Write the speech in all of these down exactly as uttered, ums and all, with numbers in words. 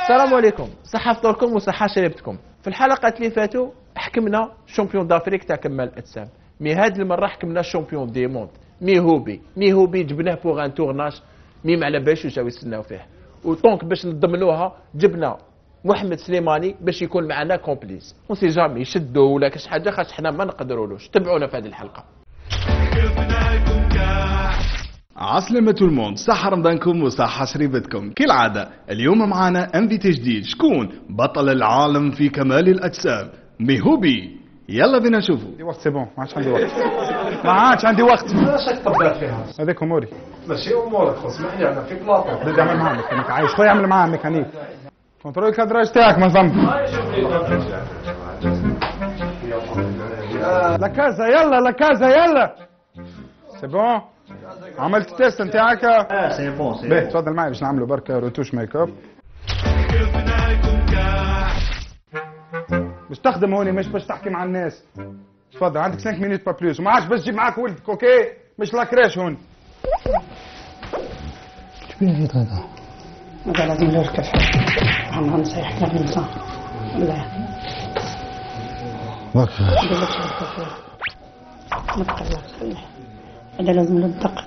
السلام عليكم، صحة فطوركم وصحة شربتكم. في الحلقات اللي فاتوا حكمنا شامبيون دافريك تاع كمال الاجسام، مي هاد المره حكمنا شامبيون دي موند مي هوبي مي هوبي جبناه بوغ ان تورناج مي ما على بالش واش جاو يستناو فيه، وطونك باش نضمنوها جبنا محمد سليماني باش يكون معنا كومبليس، ونسي جامي يشدوا ولا كاش حاجه خاص حنا ما نقدرولوش. تبعونا في هذه الحلقه. عسلامة الموند، صحة رمضانكم وصحة شريبتكم. كالعادة اليوم معنا انفيتي جديد، شكون؟ بطل العالم في كمال الأجسام ميهوبي. يلا بينا نشوفوا. عندي وقت سي بون، ما عادش عندي وقت ما عادش عندي وقت. علاش راك طبات فيها؟ هذيك اموري. ماشي امورك، خو اسمحلي انا في بلاطو. بدي اعمل معاه ميكانيك، عايش خويا اعمل معاه ميكانيك. كنترول الكادراج تاعك ما ضم. لا كازا يلا لا كازا يلا. سي بون. عملت تيست نتاعك؟ اه سي بون سي باهي تفضل معي باش نعملوا بركه روتوش ميك اب. باش تخدم هوني مش باش تحكي مع الناس. تفضل عندك خمس مينوت با بلوس، وما عادش باش تجيب معاك ولدك اوكي؟ مش لاكراش هون. شبيه هيك هذا؟ هذا لازم نركب عم نصيح لك النظام. لا ماك ما تقلقش خليه. هذا لازم ندق.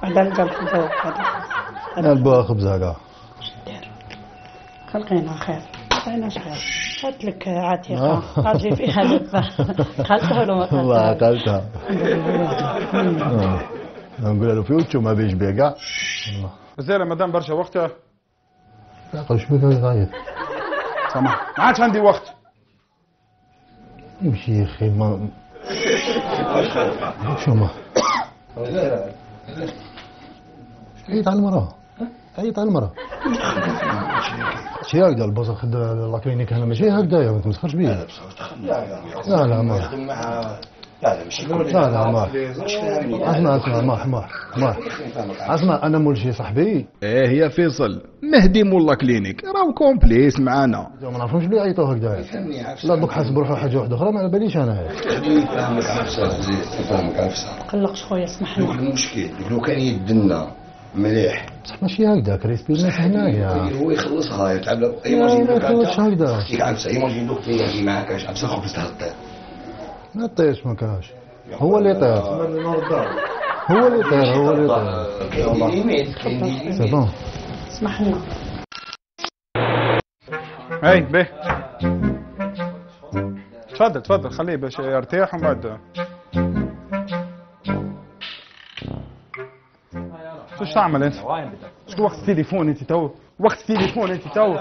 هذا القلب هذا انا البا خبز هكا. دير خلقينا خير خلقينا خير. قلت لك عتيقة غادي فيها لبة قالتها ولا ما قالتها؟ والله قالتها. نقول له في وجهه ما بيش بيا كاع. زين مدام برشا وقتها. قال شو بك غايب؟ سامح ما عادش عندي وقت. يمشي يا اخي ما شو ما عيط على المرأة، عيط على المرأة. شي هكذا البصر خد لاكلينيك هنا ماشي هكذايا، ما تمسخرش بيه. لا لا ما لا لا ماشي لا لا ما اسمع اسمع ما ما ما اسمع انا مول شي صاحبي. ايه يا فيصل، مهدي مولا كلينيك راهو كومبليس معانا. ما نعرفهمش بلي عيطوا هكذايا. لا دوك حاسب روحو حاجه واحده اخرى ما على باليش انا. خليني نفهمك عفسه زيد نفهمك عفسه. ما تقلقش خويا اسمح لي. المشكل لو كان يدنا مليح بصح ماشي هكذا كريسبي الناس هنايا. هو يخلصها يتعب. ايماجين دوك هكذا. خليك عفسه ايماجين دوك يجي معاك عفسه خبز تهطير. ما طيش ما كاش. هو اللي طير. هو اللي طير هو اللي طير. سي بون. اسمح لنا. اي باهي تفضل تفضل خليه باش يرتاح ومن بعد. شو تعمل انت؟ شو وقت التليفون انت تو؟ وقت التليفون انت تو؟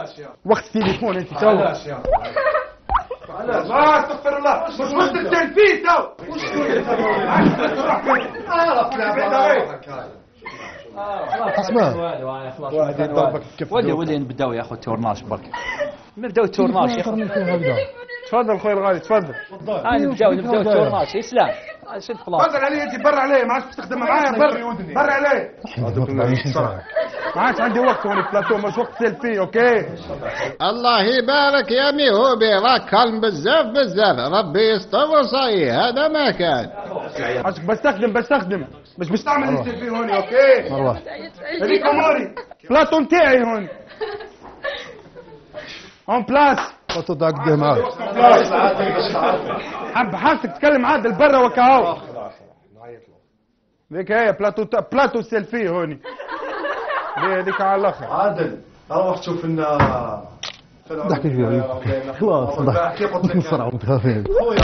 وقت التليفون انت تو؟ علاش؟ لا استغفر الله، مش وقت التلفيز تو. وش اسمع واحد يضربك كيف ودي ودي نبداو يا اخو التورناج برك. نبداو التورناج يا اخو. تفضل خويا الغالي تفضل. هاي نبداو نبداو التورناج. اسلام شد بلاصه. تفضل علي انت برا عليه، ما عادش باش تخدم معايا. برا برا عليه. ما عادش عندي وقت هوني بلاتو، مش وقت سيلفي اوكي. الله يبارك يا ميهوبي، راك كالم بزاف بزاف، ربي يستر وصاي. هذا ما كان عشان بستخدم بستخدم مش باش تعمل السيلفي هوني اوكي. مروح هذيك اموري بلاتو نتاعي هون اون بلاس. بلاتو تاعك ديه معاك. حب حاسك تتكلم عادل برا وكاهو. ذيك هي بلاتو بلاتو سيلفي هوني. هذيك على الاخر. عادل روح شوف لنا ضحك شويه خلاص ضحك بسرعه متخافين. خويا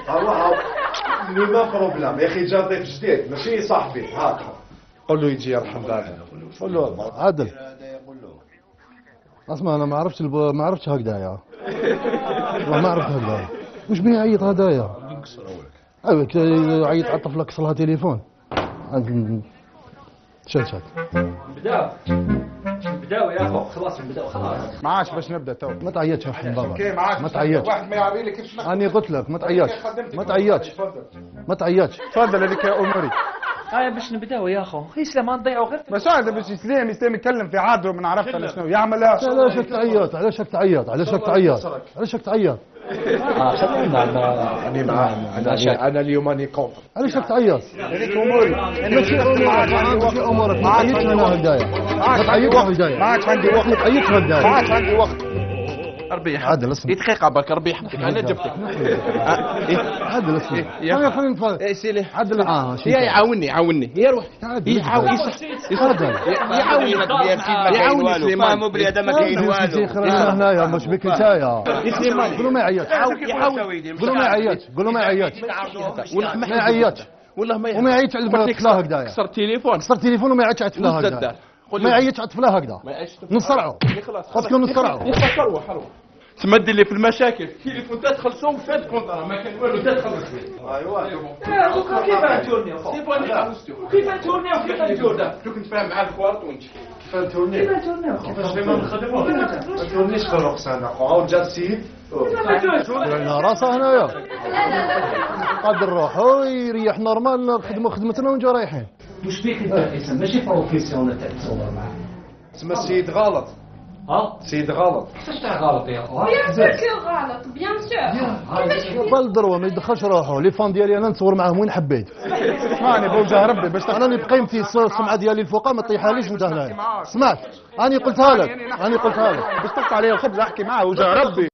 روح لو ما بروبلام يا اخي، جا ضيف جديد ماشي صاحبي. هاك قول له يجي يرحم بالك. قول له عادل اسمع انا ما عرفتش الب... ما عرفتش هكذايا. والله ما عرفت هكذايا. وش بيه عيط هدايا؟ ايوا عيط على طفلك كسرها تليفون. شد شد نبداو نبداو يا اخو خلاص نبداو خلاص. ما عادش باش نبدا تو. ما تعيطش يا حبيبي بابا. اوكي ما عادش. ما تعيطش. واحد ما يعري لك كيفاش. انا قلت لك ما تعيطش ما تعيطش ما تعيطش. تفضل هذيك يا اموري. هاي باش نبداو يا اخو هي سلام ما نضيعوا غير بس هذا باش يسلم يسلم يتكلم في عادله ما نعرفش انا شنو يعملها. علاش راك تعيط علاش راك تعيط علاش راك تعيط علاش راك تعيط اه خلينا انا معاه انا انا اليوم راني كونتر. علاش راك تعيط هذيك اموري ماشي امورك ماشي امورك ما تعيطش هنا هكذايا ما تعيطش هكذايا ما عادش عندي وقت ما تعيطش ما هكذايا عادش عندي وقت. ربي عادل يحفظك اسمع دقيقه برك ربي يحفظك انا جبتك عادل اسمع يا انا خلينا نتفاهم اي سيلي عادل اه يا يعاوني يعاوني يا روح يعاون عادل يعاوني يعاوني سليمان فهموا بلي هذا ما كاين والو. خلينا هنايا مش بك نتايا سليمان قولوا ما يعيطش قولوا ما يعيطش قولوا ما يعيطش والله ما يعيطش والله ما وما يعيطش على البنات طفلاه هكذايا كسر التليفون كسر التليفون وما يعيطش على طفلاه هكذا ما يعيطش على طفلاه هكذا نصرعوا خاصكم نصرعوا حروح حروح تمد لي في المشاكل التليفون تدخل صوم فات كونترا ما كان والو تدخل ايوا كيف نتورنيو كيف نتورنيو كيف نتورنيو دوك نتفاهم مع الكوارت ونجي كيف نتورني كيفاش ما نخدموا ما تورنيش في الرخص انا عاود جا السيد لنا راسه هنايا قادر نروحوا يريح نورمال نخدموا خدمتنا ونجوا رايحين. واش بيك انت اسم ماشي بروفيسيونيل تاع تصور معاه تسمى السيد غلط ها السيد غلط. كيفاش تاع غلط يا اخو بيان سور كو غلط بيان سور بالدروه ما يدخلش روحه لي فان ديالي انا نتصور معاهم وين حبيت اسمعني بوجه ربي باش انا اللي بقيمتي السمعه ديالي الفوقا ما طيحهاليش انت هنايا سمعت انا قلتها لك انا قلتها لك باش تقطع عليا الخبز احكي معاه وجه ربي.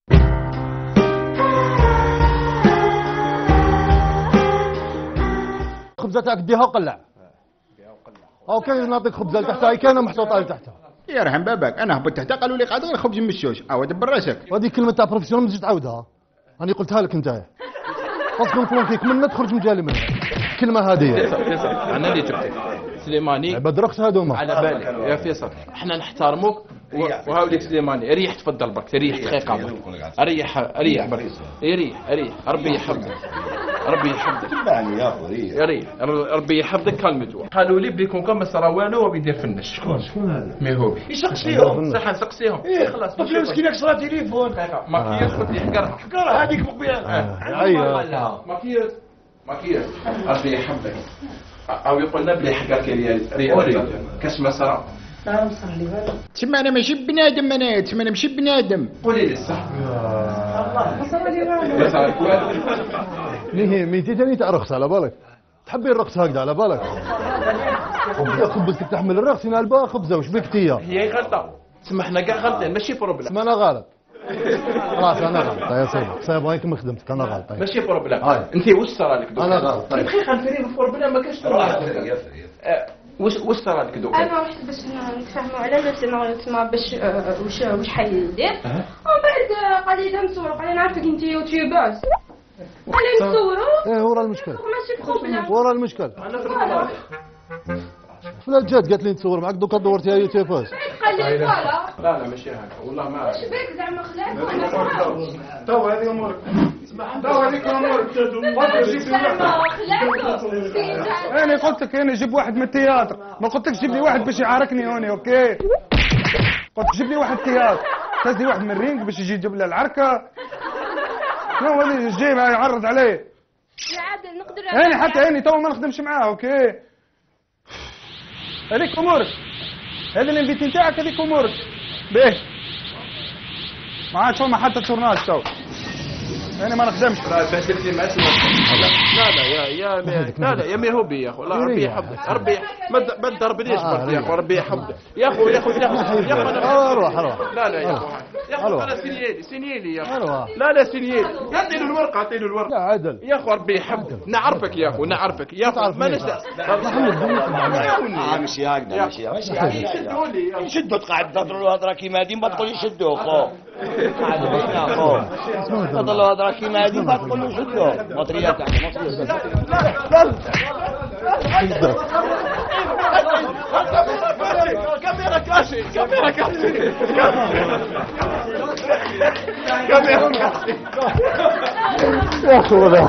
الخبزه تاعك ديها وقلع اوكي نعطيك خبزه لتحتها كاينه محطوطه لتحتها يرحم باباك انا هبط تحت قالوا لي قاعد غير خبز مشوش او دبر راسك. وهذه كلمه تاع بروفيسيونال ما تجي تعاودها انا قلتها لك انت خاصكم فلونكيك منها تخرج من جالي منها الكلمه هذه انا اللي جبتك سليماني عباد رخص هذوما على بالي يا فيصل احنا نحترموك وهاوليك سليماني ريح تفضل برك ريح دقيقه برك ريح ريح برك ريح ريح ربي يحفظك ربي يحفظك يا ريح ربي يحفظك كلمته قالوا لي بلي كون كان ما صرا والو وبيدير في النش شكون شكون هذا ما هو يسقسيهم صح نسقسيهم خلاص طفل مسكينك صرا تليفون ماكياج قلت لي حقرها حقرها هذيك مقبيان ايوه ماكياج ماكياج ربي يحفظك او يقولنا بلي حقرك ريال كاش ما صرا تسمى انا ماشي بنادم انا تسمى انا ماشي بنادم. قولي لي الصح الله ما صار لي والو ما صار والو مي ميتي ثاني تاع رخص على بالك تحبي الرقص هكذا على بالك خبزتك تحمل الرقص هنا البا خبزه وش بك تيا هي غلطه تسمى حنا كاع غلطين ماشي بروبليم ما انا غلط خلاص انا غلط يا سيدي صايب هايك ما خدمتك انا غلط ماشي بروبليم انت واش صرا لك دوك انا غلط طيب خلينا نفري بروبليم ما كاش واش واش صرا لك دوك انا رحت باش نتفاهموا على السيناريو تما باش آه، واش واش حيدير ومن بعد قال لي نصوروا قال لي نعرفك انت يوتيوبرز قال لي نصوروا ايه ورا المشكل ماشي بروبليم ورا المشكل فلا جات قالت لي نتصور معك دوكا دورتيها يوتيوبرز قال لي فوالا لا لا ماشي هكا والله ما واش بك زعما خلاك تو هذه امورك تو هذيك امورك انا قلت لك انا جيب واحد من التياتر ما قلت لك جيب لي واحد باش يعاركني هوني اوكي قلت جيب لي واحد تياتر تهز لي واحد من الرينج باش يجي يجيب لي العركه شنو هذا جاي يعرض عليه يا عادل نقدر انا حتى انا تو ما نخدمش معاه اوكي هذيك امورك هذا الانفيت نتاعك هذيك امورك باهي ما عادش فما حتى تورناج تو انا ما نخدمش بهدلت لي معاه لا لا يا يا لا لا يا ميهوبي يا اخو لا ربي يحفظك ربي ما ما تضربنيش برك يا اخو ربي يحفظك يا اخو يا اخو يا اخو اروح اروح لا لا يا اخو يا اخو انا سينيالي سينيالي يا اخو لا لا سينيالي اعطيله الورقه اعطيله الورقه يا عادل يا اخو ربي يحفظك نعرفك يا اخو نعرفك يا اخو ما نسى ماشي هكذا ماشي هكذا نشدوا تقعد تهضروا هضره كيما هذه ما تقوليش شدوا خو قاعد بينا خو تهضروا هضره كيما هذه ما تقولوا شدوا مطريه تاع مطريه لا لا كاميرا كاشي كاميرا كاشي كاميرا كاشي يا اخو لا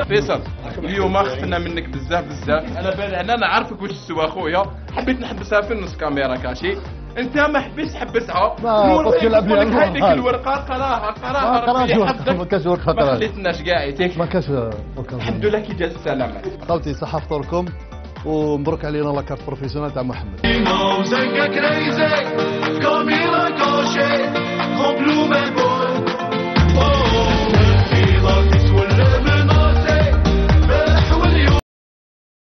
فيصل اليوم خفنا منك بزاف بزاف انا بالي انا نعرفك واش تسوى اخويا حبيت نحبسها في النص كاميرا كاشي انت ما حبيتش حبسها. ما قلت لك نقول لك هذيك الورقه قراها قراها قراش ربي ورقة، يحفظك. ما كاش ورقة ما قراها. خليتناش كاع يتيك. ما كاش ورقة. الحمد لله كي جات السلامه. خوتي صحة فطوركم ومبروك علينا لاكارت بروفيسيونال تاع محمد.